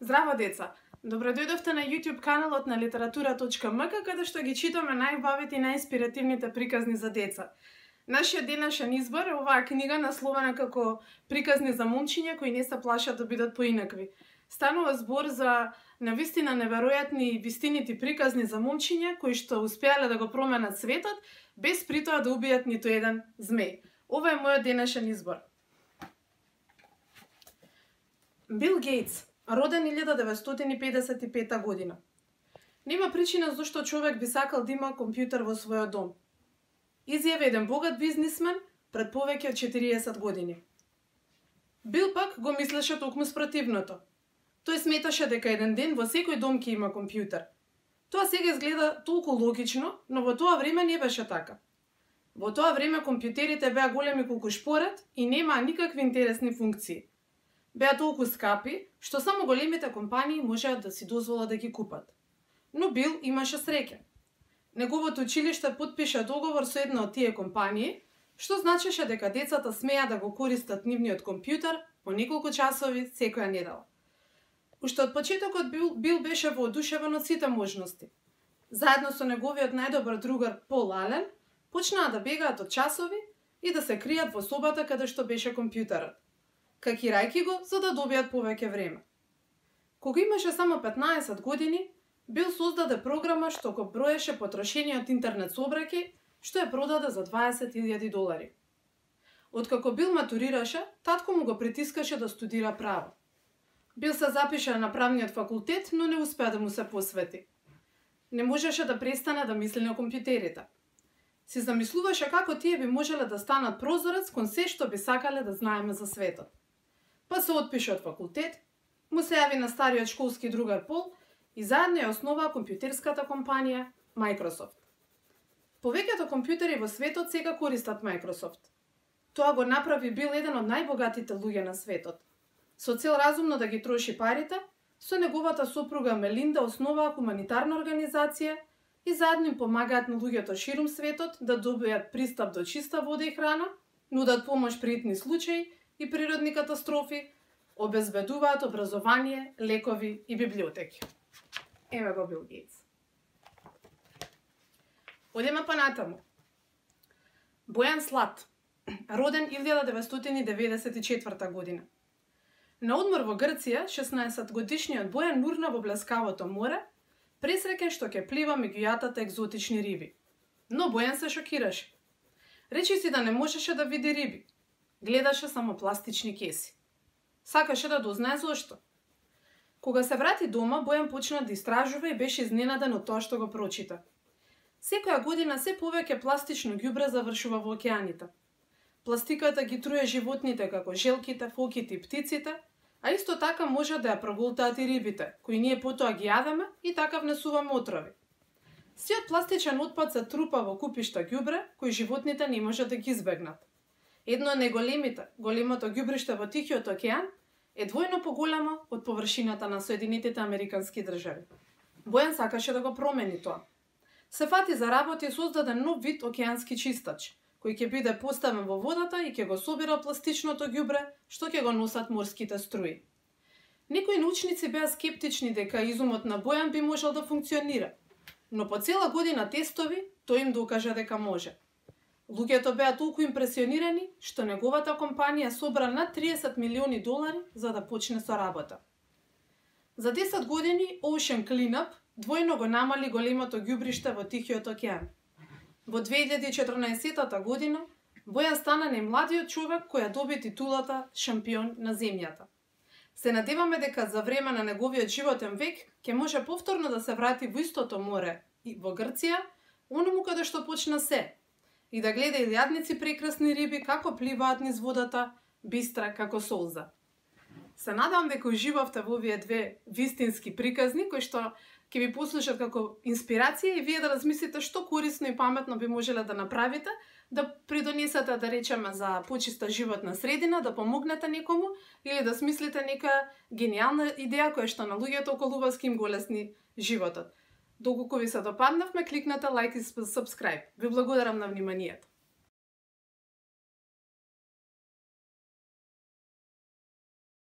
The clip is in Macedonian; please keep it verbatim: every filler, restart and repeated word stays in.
Здраво деца! Добро дојдовте на YouTube каналот на литература точка ем ка, каде што ги читаме најубавите и најинспиративните приказни за деца. Нашиот денешен избор е оваа книга насловена како Приказни за момчиња кои не се плашат да бидат поинакви. Станува збор за навистина неверојатни и вистинити приказни за момчиња кои што успеале да го променат светот без при тоа да убијат ниту еден змеј. Ова е мојот денешен избор. Бил Гейтс, роден илјада деветстотини педесет и пета година. Нема причина зашто човек би сакал да има компјутер во својот дом. Изјави еден богат бизнисмен пред повеќе од четириесет години. Бил пак го мислеше токму спротивното. Тој сметаше дека еден ден во секој дом ќе има компјутер. Тоа сега изгледа толку логично, но во тоа време не беше така. Во тоа време компјутерите беа големи колку шпоред и немаа никакви интересни функции. Беа толку скапи, што само големите компании можеа да си дозволат да ги купат. Но Бил имаше среќа. Неговото училиште потпиша договор со една од тие компании, што значеше дека децата смеа да го користат нивниот компјутер по неколку часови секоја недела. Уште од почетокот Бил, Бил беше воодушевен од сите можности. Заедно со неговиот најдобар другар Пол Ален, почнаа да бегаат од часови и да се кријат во собата каде што беше компјутерот, какирајќи го за да добијат повеќе време. Кога имаше само петнаесет години, Бил создаде програма што го броеше потрошениот интернет сообраќај, што ја продаде за дваесет илјади долари. Откако Бил матурираше, татко му го притискаше да студира право. Бил се запиша на правниот факултет, но не успеа да му се посвети. Не можеше да престане да мисли на компјутерите. Си замислуваше како тие би можеле да станат прозорец кон се што би сакале да знаеме за светот. Па се отпише од факултет, му се јави на стариот школски другар Пол и заедно ја основаа компјутерската компанија Microsoft. Повеќето компјутери во светот сега користат Microsoft. Тоа го направи Бил еден од најбогатите луѓе на светот. Со цел разумно да ги троши парите, со неговата сопруга Мелинда основаа хуманитарна организација и заедно им помагаат на луѓето ширум светот да добијат пристап до чиста вода и храна, нудат помош при итни случаи и природни катастрофи, обезбедуваат образование, лекови и библиотеки. Еве го Бил Гейтс. Одеме понатаму. Бојан Слат, роден илјада деветстотини деветдесет и четврта година. На одмор во Грција, шеснаесетгодишниот Бојан нурна во блескавото море, пресреќен што ќе плива меѓу јатата екзотични риби. Но Бојан се шокираше. Речи си да не можеше да види риби. Гледаше само пластични кеси. Сакаше да дознае зошто. Кога се врати дома, Бојан почна да истражува и беше изненаден од тоа што го прочита. Секоја година се повеќе пластично ѓубре завршува во океаните. Пластиката ги труе животните како желките, фоките и птиците, а исто така може да ја проголтаат и рибите, кои ние потоа ги јадеме и така внесуваме отрови. Сиот пластичен отпад се трупа во купишта ѓубре, кои животните не може да ги избегнат. Едно од најголемите, големото ѓубриште во Тихиот океан, е двојно поголемо од површината на Соединетите Американски држави. Бојан сакаше да го промени тоа. Се фати за работа и создаде нов вид океански чистач, кој ќе биде поставен во водата и ќе го собира пластичното ѓубре што ќе го носат морските струи. Некои научници беа скептични дека изумот на Бојан би можел да функционира, но по цела година тестови тој им докажа дека може. Луѓето беа толку импресионирани што неговата компанија собра над триесет милиони долари за да почне со работа. За десет години Ocean Cleanup двојно го намали големото ѓубриште во Тихиот океан. Во две илјади и четрнаесетта година Бојан стана најмладиот човек кој ја доби титулата шампион на земјата. Се надеваме дека за време на неговиот животен век ќе може повторно да се врати во истото море и во Грција, оному каде што почна се, и да гледа илјадници прекрасни риби како пливаат низ водата, бистра како солза. Се надевам дека уживавте во овие две вистински приказни кои што ќе ви послужат како инспирација и вие да размислите што корисно и паметно би можеле да направите, да придонесете, да речеме, за почиста животна средина, да помогнете некому или да смислите нека гениална идеја која што на луѓето околу вас ќе им го лесни животот. Доколку ви се допаднавме, кликнете лайк и subscribe. Ви благодарам на вниманието.